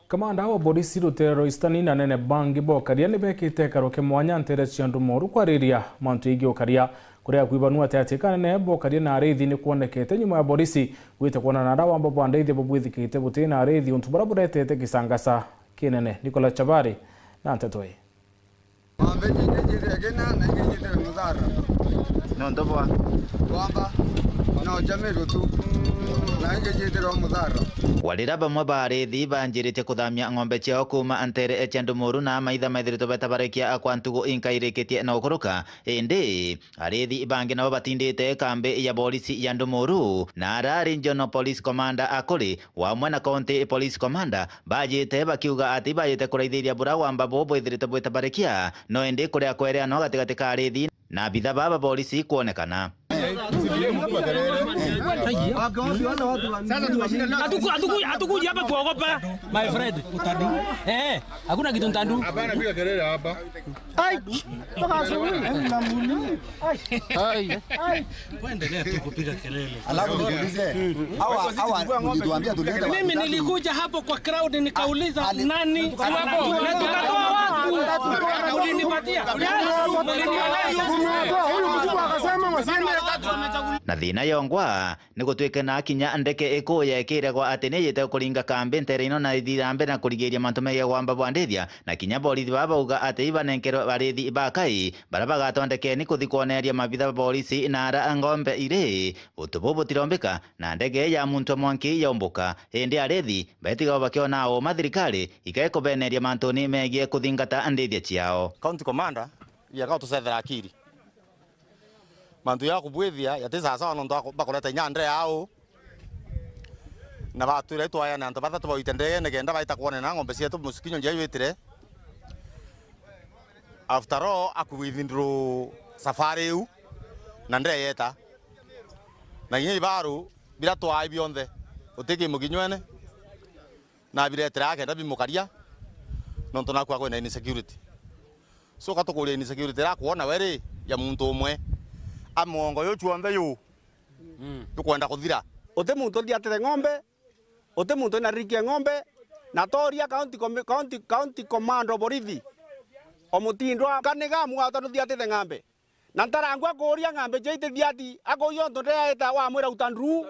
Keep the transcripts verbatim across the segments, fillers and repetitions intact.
Kamanda wa borisi ruteere rwa Eastern na anene bangi bokaria ni bekite ikaro kia mwanya nteere cia Ndumuru kwariria mantu yegii ukaria, kuria kwibanua ati ati kanene bokaria na arithi ni kwonekete nyuma ya borisi gwita kwonana na aria wamba bwa ndithia bubwithikite buti na arithi, untu buria buretete kisangasa kinene. Nicholas Chabari na nteto ii. Ng'ombe ingĩ njithire kina na ingĩ njithire muthara. Nontu bwa? Wamba, no jamirwe tu, na ingĩ njithire muthara. Warira bamwe ba arithi banjiritie kuthamia ng'ombe ciao kuuma nteere cia Ndumuru na amaitha methiritwe betabarikia kwa ntugu inkairikitie na gukuruka, indi arithi bangi nabo batindite kambi ya borisi ya Ndumuru, na ara Regional Police Commander akuri wamwe na County Police Commander bajite bakiuga ati bajite kuraithiria bura wamba bo bwithirite bwitabarikia, no indi kuria kwereanwa gatigati ka arithi na abitha baba borisi kwonekana. Hatuku- hatuku- hatukuji hapa kuogopa, my friend. Eh, hakuna kitu ntandu. Hapana, piga kelele hapa. Ai! Toka asubuhi. Ai! Ai! Endelea tu kupiga kelele. Alafu nikuulize, hawa, hawa, mlituambia tulete. Mimi nilikuja hapo kwa crowd nikauliza nani? Na tukatoa watu. Ulinipatia. Huyu mkubwa akasema wasiende. Na thina yongwa ni gutwike na kinya ndeke iku yekiragwa ati ni yite kuringa kambi ntere ino na ithira mbere na kurigiria mantu megie gwamba bwa ndithia, na kinya borithi baba bauga ati ibanenkerwe barithi ba kai baria bagatondekeni kuthi kwoneria mabitha ba borisi na ara ng'ombe iri. Untu buu butirombika na ndege ya muntu mwanki yaumbuka, indi arithi baitigawa bakiona uma thirikari ikae kubeneria mantuni megie kuthingata ndithia ciao. County Commander, yaka utucethera akiri. Mantu ya kubwithia yati sawasawa nontu aku- bakureta inya ndee au. Na batwira itwayane antu bathatu bawite ndegene kenda baita kwonana na ng'ombe cietu musikinyo njia jwitire. After all, aku withdraw safari iu na ndee yeta. Na inya ibaru bira twai bionthe, uti ki mukinywene. Na biretera akenda bimukaria, nontu naku akwenda insecurity. So, katukuria insecurity ira kwona we ri, ya muntu umwe. A muongo yu chuonthe yu, mm, jukwenda kuthira. Uti muntu uthiatire ng'ombe, uti muntu wina riki ya ng'ombe, na toria county com-, county, county command of borithi, omutindwa kaniga mwata nuthiatite ng'ambe. Na ntarangwa kuuria ng'ambe cia itithiati, akuuria untu ndeaita wamwira uta nduru.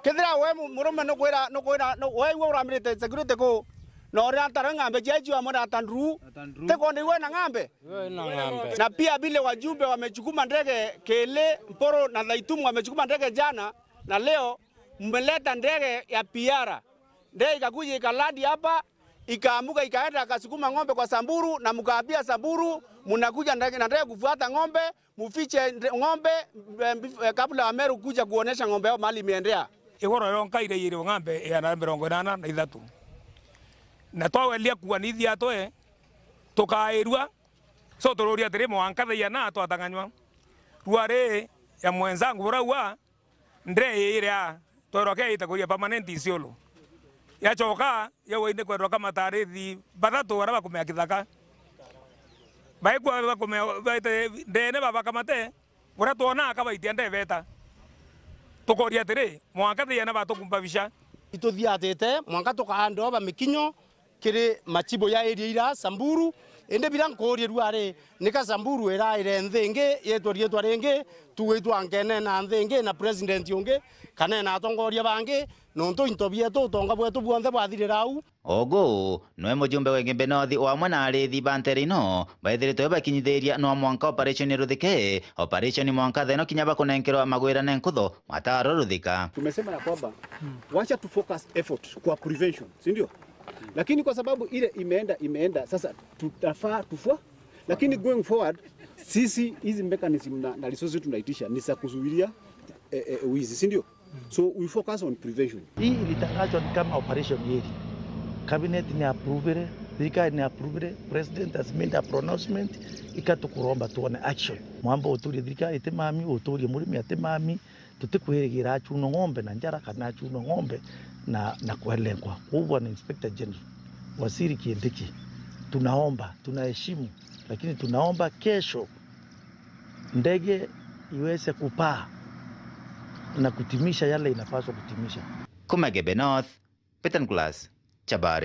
Kethira we mu-, murume nukwira, nukwira, nu-, we iwe uramirite security ku, na uria ntara ng'ambe cia icio amwira ata nduru. Ata nduru. Tiko ni iwe na ng'ambe? Iwe na ng'ambe. Na pia vile wajumbe wamechukuma ndege Kele, Mporo na Thaitumu wamechukuma ndege jana na leo, mmeleta ndege ya P R. Ndege ikakuja ikalandi hapa, ikaamuka ikaenda akasukuma ng'ombe kwa Samburu, na mkaambia Samburu, mnakuja ndege, na ndege kufuata ng'ombe, mufiche nde-, ng'ombe, eh, bif-, eh, kabla Wameru kuja kuonesha ng'ombe yao mahali imeendea. Igoro yonka iraiyirwe ng'ambe igana na mirongo inana na ithatu. Na twaweria kuwa ni ithiatwe, tukairua, so tururia atiri, mwanka thaa iana twatang'anywa. Rua ri ya mwenzangu buraua, ndee iria twerwa ke ita kuria permanent Isiolo. Yachoka, yawa indi kwendwa kamata arithi bathatu baria bakumea kithaka. Baikwa bakumea, baite ndeene babakamate, buria twona akabaitia ndebeta. Tukoria atiri, mwanka thiana batukumba bica. Ituthiatite, mwanka tukaandwa ba mikinyo, kiri machibu ya area ira Samburu, indi bira nkuurie rua ri, nika Samburu iraire nthi ingi, yitwe riitwa ringi, tuwitwa nkenena nthi ingi na president ungi, kana na atongoria bangi, nontu into bietu, utonga bwetu bwonthe bwathirira au. Ugu, nwe mujumbe wa Igembe North wamwe na arithi ba ntere ino, baithiritwe bakinyithiria no mwanka operation iruthike, operation mwanka theno kinya bakunenkerwa magwirane nkutho, mataro ruthika. Tumesema ya kwamba, wacha tu focus effort kwa prevention, si ndio? Lakini kwa sababu ile imeenda, imeenda, sasa tutafaa tufua. Lakini going forward, sisi hizi mechanism na, na resources tunaitisha ni za kuzuilia, eh, eh, wizi, si ndio? So we focus on prevention. Hii ilitangazwa ni kama operation yeri. Cabinet ni approvire, thirikari ni approvire, president has made a pronouncement, ikatukuromba tuone action. Mwamba uturie thirikari itimami, uturie murimi atimami, tutikwirigira achunwe ng'ombe na njara kana achunwe ng'ombe na, na kwelengwa. Kwa hivyo, Bwana Inspector General, Waziri Kindiki, tunaomba, tunaheshimu, lakini tunaomba kesho ndege iweze kupaa na kutimisha yale inapaswa kutimisha. Kuma Igembe North, Peter Nicholas, Chabari.